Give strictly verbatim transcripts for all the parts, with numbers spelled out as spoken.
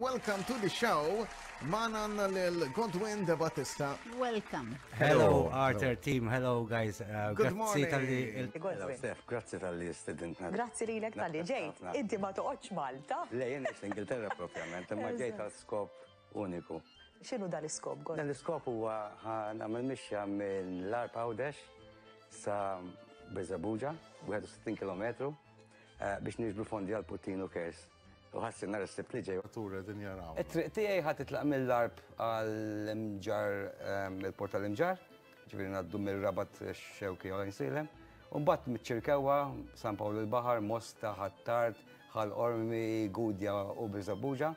Welcome to the show. Manan lil Godwin De Battista. Welcome. Hello, Arthur team. Hello, guys. Uh, Good grazzi morning. tal-li- Hello, Steph, grazzi tal-li istedintna. Grazzi li l-ek tal-li ġejt, inti ma toqgħodx Malta. Le, jien eħx l-Ingilterra propjament, imma ġejt għal skop uniku. X'inhu dan l-iskop, Gord? Dan l-iskop huwa nagħmel mixja minn l-Arp Għawdex sa Birżebbuġa, wieħed u sittin kilometru, biex niġbru fondi għal Puttinu Kers. U ħassi nar is-sibt li ġej. Tura din jaraw. it-triq tiegħi ħadd titlaq mill-Arp għall-Imġar, il-Port tal-Imġar, ġifieri ngħaddu mir-Rabat Xewki u Għajnsilem, u mbagħad miċ-Ċirkewwa, San Pawl il-Baħar, Mosta, Ħattart, Ħal-Ormi, Gudja u Birżebbuġa.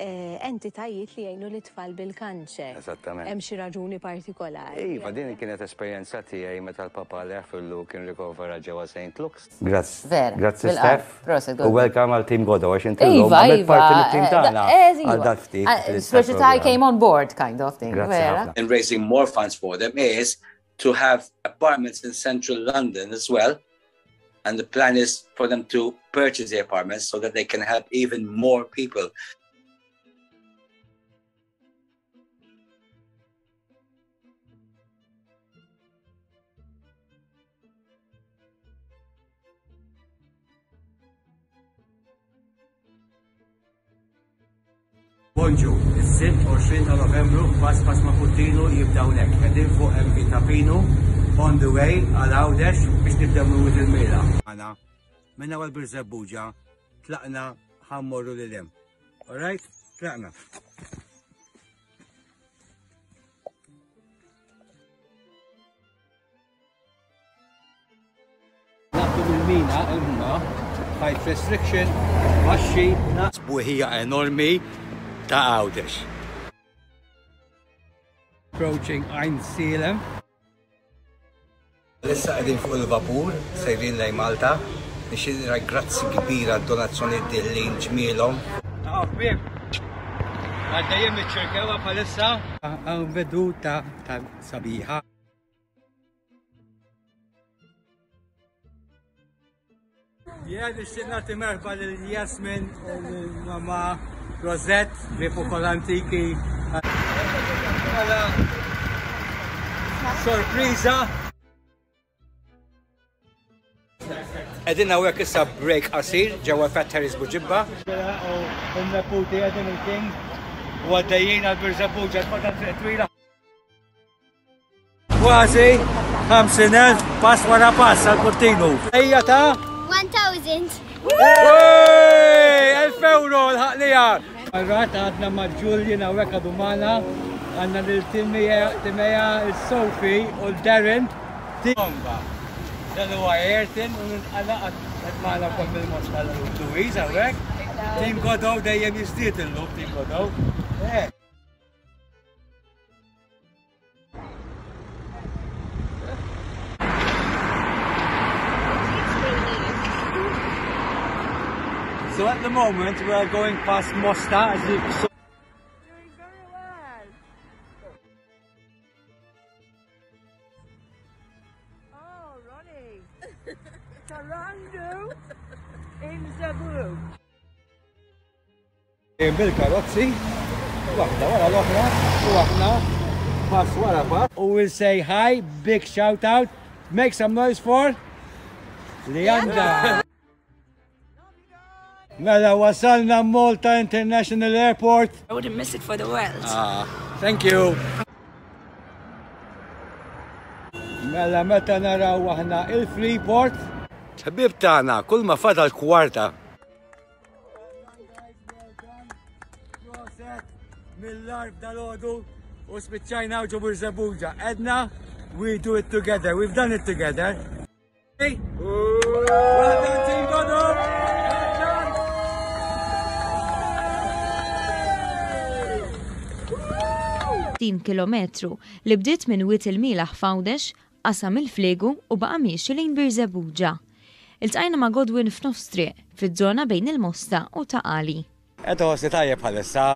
Entitajiet li jgħinu l-tfal bil-kanċer. Esattament. Hemm xi raġuni partikolari. Iva, din kienet esperjenza tiegħi meta l-papa Leħfillu kien rikovera ġewwa Saint Luke's. Grazzi. Vera, Grazzi bil-qalb. Steph. Proset, U Godwin. welcome għal Team Godo għax inti l-lum Iva, għamilt Iva. parti mit-team tagħna eh, għal dat ftit. Especially I came on board, kind of thing. Grazzi Vera. ħafna. And raising more funds for them is to have apartments in central London as well. And the plan is for them to purchase the apartments so that they can help even more people. Bonġu, is-sibt għoxrin ta' Novembru, pass pass ma' Puttinu jibdaw nek. Għedin fuq M V Tapino, on the way għal Għawdex biex nibdew minn il-mela. Għana, minna għal Birżebbuġa, tlaqna ħammorru l-lim. Alright? Tlaqna. Naqtu bil-mina, imma, height restriction, maxxi, naqsbu hija enormi, ta' Għawdex. Approaching Għajnsilem. Lissa għedin fuq il-vapur, sejrin lej Malta. Nixidra grazzi kbira donazzjoni dillin ġmielhom. Ta' bib, għaddajem iċ-ċirkewa palissa. Għan veduta ta' sabiħa. Jgħad ix-xinati merħba l-Jasmin u l-mama Rosette, Ripokol Antiki. Għala, sorpriza. Għedin għawek issa break qasir, ġewa Fatteris Buġibba. U n-neputi għedin il-king, u għaddejjien għal-Birżebbuġa, t-fadda t-twila. Kważi, ħamsin elf, pass wara pass għal-Puttinu. Ejja ta' one thousand. elf euro l-ħaqlija. Għarrat għadna ma' Julian għawek għadumana, għanna l-Timeja, il-Sofi u l-Darren. Tomba, dalu għajertin u għanna għadmana kom bil-Mosta l-Louise għawek. Team Godo dejjem jistiet il-lub, Team Godo. So at the moment we are going past Mosta as you saw. Doing very well. Oh, Ronnie. Tarandu in Zabu. Bil-karozzi, waħda wara l-oħra, u aħna pass wara pass. We will say hi, big shout out, make some noise for Leandra. Mela wasalna Malta International Airport. I wouldn't miss it for the world. Ah, thank you. Mela meta naraw aħna il-Freeport. Tabib tagħna kull ma fadal kwarta. Mill-arb dal-għodu u spiċċajna ġo Birżebbuġa. Edna, we do it together. We've done it together. Hey. Well done, Team Godo. sittin kilometru li bdiet minn Wiet il-Milaħ f'Għawdex, qasam il-Flegu u baqa' miexi lejn Birżebbuġa. Iltqajna ma' Godwin f'nofs triq, fiż-żona bejn il-Mosta u Taqali. Qed ħossi tajjeb bħalissa.